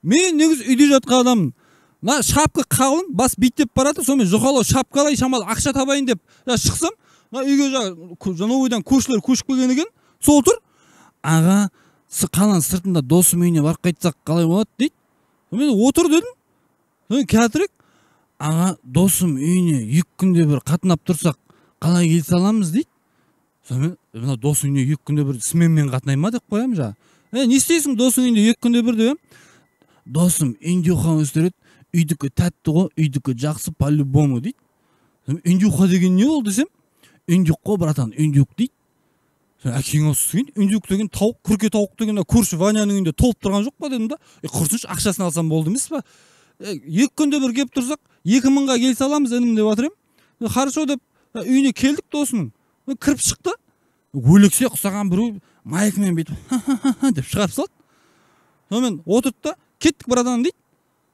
Мен негизи үйдө жаткан адаммын. Мына шапка калын, бас биттеп барат, сонун жоколоо шапкалай шамал акча табайын деп шыксам, мына үйгө новойдан көршүлөр көчүп келген экен. Сол тур. Ага, калан сыртында досум үйүнө барып кайтсак калай болот дейт. Мен отур дедим. Мен катрик. Ага, досум үйүнө 2 күндө бир катнап турсак калай келсе аламыз дейт. Мен мына досум үйүнө 2 күндө бир сменмен катнайма деп коям жа. Не истейсиң досуң үйүндө 2 күндө бир дебем. Досум үйүндө ухам өстөрөт. Үйдүкү таттуу го, үйдүкү жакшы по-любому дейт. Үндүк деген не болду десем? Үндүк го братан, үндүк дейт. Акиң олсун, үндүк деген таук, күркө таук деген көршү Ванянын үйүндө толуп турган жок па дедим да. Курсунчу акчасын алсам болду эмес па? 2 күндө бир кеп турсак 2000га келсе аламыз дедим деп атыр эм. Хорошо деп үйүнө келдик досунун. Кирип чыкты. Өлексе кусаган бирөө майк менен бүйтүп деп чыгарып салат. Сонун отурду да, кеттик братан дейт.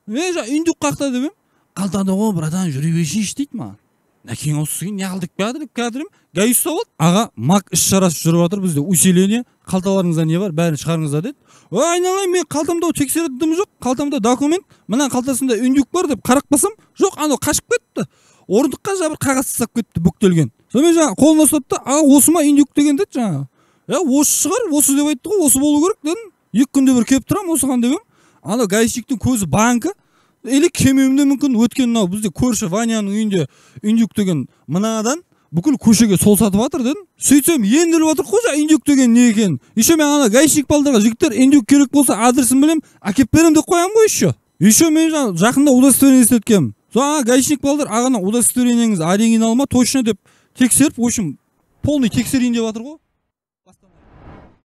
Мен жа үндүк какта дебем. Калтада го братан жүрү беришиш дейт мага. Акиң олсун, не кылдык баады деп кадырым. Гаишса болот. Ага, мак иш чарасы жүрүп атыр бизде. Усиление, калталарыңызда не бар, бәрин чыгарыңыздар дейт. Айналайын, мен калтамда текшердим жок. Калтамда документ, мына калтасында үндүк бар деп карап басам, жок, аны качып кетти. Ордукка жа бир кагаз тастап кетти, бүктөлгөн. Сонун жана колуна ұстады да, ага осума үндүк деген дейт жана. Осы чыгар, осы деп айтты го, осы болуу керек дедим. 2 күндө бир кеп турам, осуган дебем. Ана гаишниктин көзү банка. Или кемемим де мүмкүн, өткөн мына бизде көршү Ванянын үйүндө үндүк деген мынаадан бүкүл көшөгө сол сатып атыр дедим. Сөйтсөм ендилип атыр го жа үндүк деген не экен. Ишо мен ана гаишник балдарга жигиттер үндүк керек болсо адресин билем, акеп берем деп коям го ишо. Ишо мен жакында удостоверение эстеткем. Ага гаишник балдар агана удостоверениеңиз оригинал ма, точно деп текшерип, в общем, полный текшерейин деп атыр го.